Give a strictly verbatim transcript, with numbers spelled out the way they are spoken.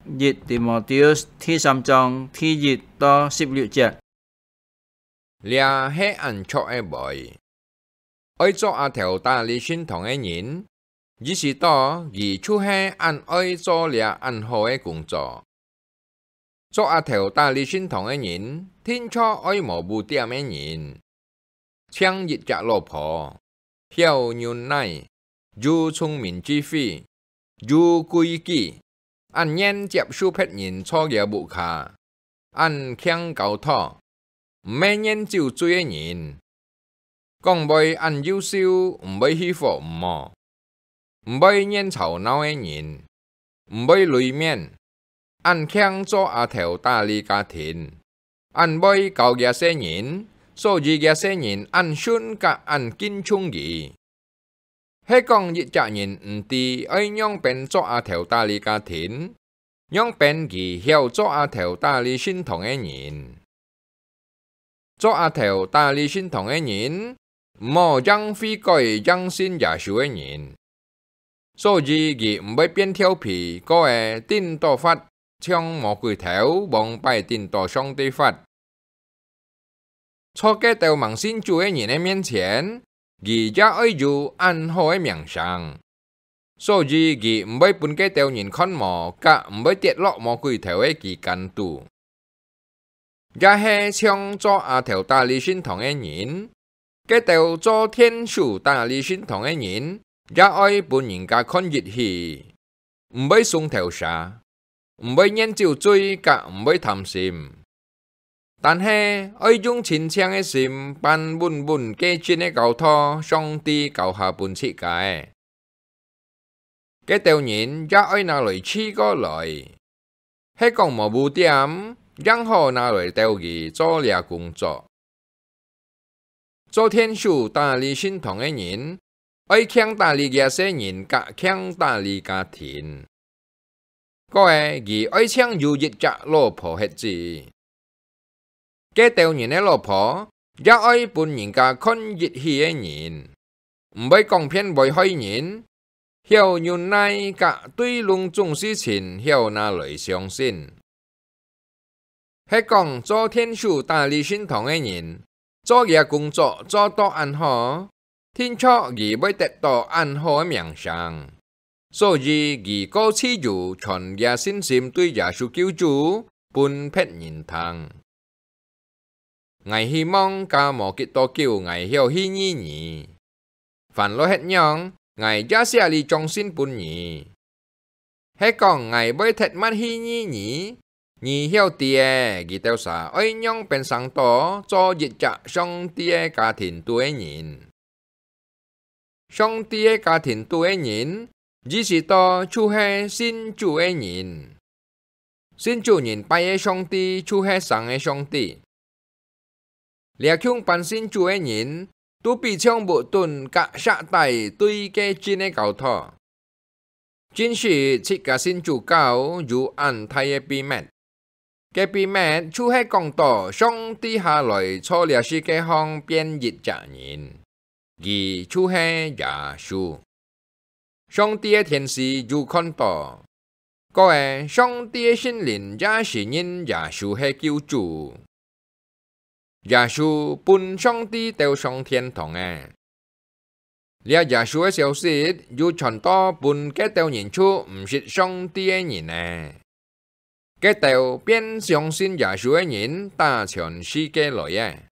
一提摩太第三章第一到十六節。這係恁著个話。愛做阿頭搭理聖堂个人，意識到佢就係恁愛做這恁好个工作。做阿頭搭理聖堂个人，定著愛無污點个人，淨一隻老婆，曉忍耐，有聰明智慧，有規矩，恁願接受別人坐厥屋下，恁慶交託，毋係願酒醉个人，講話恁優秀，毋會去火毋無，毋會願吵鬧个人，毋會鐳面，恁慶做阿頭搭理家庭，恁會教厥細人，所以厥細人恁信佮恁敬重佢。係講一隻人毋知愛仰般做阿頭搭理家庭，仰般佢曉做阿頭搭理聖堂个人。做阿頭搭理聖堂个人，毋好淨悔改、淨信耶穌个人，所以佢毋會變調皮，過仔頂到發，像魔鬼頭王擺頂到上帝發。坐該兜吂信主个人个面前，佢也愛有恁好个名聲，所以佢毋會分該兜人看無，佮毋會跌落魔鬼頭个旗杆肚。也係像做阿頭搭理聖堂个人，該兜做天使搭理聖堂个人，也愛分人家看一起，毋會送頭蛇，毋會願酒醉，佮毋會貪心。但係愛用清淨个心，辦穩穩該盡个交託，上帝交下分自家个。該兜人也愛拿來試過來，係講無污點，正好拿來鬥佢做這工作。做天使搭理聖堂个人，愛慶搭理厥細人，佮慶搭理家庭。過仔佢愛淨有一隻老婆歇子。該兜人个老婆，也愛分人家看一起个人，毋會講騙會害人，曉忍耐，佮對攏總事情曉拿來相信。係講做天使搭理聖堂个人，做厥工作做到恁好，定著佢會得到恁好个名聲，所以佢過自由傳厥信心對耶穌救主分別人聽。𠊎希望加無幾多久𠊎曉去見你。 煩惱歇仰，𠊎也寫這張信分你。係講𠊎會忒慢去見你，你曉知仔，佢兜儕愛仰般生到做一隻上帝个家庭肚个人。上帝个家庭肚个人，意思到就係信主个人。信主人拜个上帝就係生个上帝。 這共般信主个人，都比像屋脣佮石底對該盡个交託。真實自家信主教有恁大个秘密。該秘密就係講到上帝下來坐這世界項變一隻人，佢就係耶穌。 上帝个天使有看到，過仔上帝个聖靈也承認耶穌係救主。耶穌分上帝兜上天堂仔。這耶穌个消息又傳到分該兜人就毋識上帝个人仔。 該兜變相信耶穌个人打全世界來仔。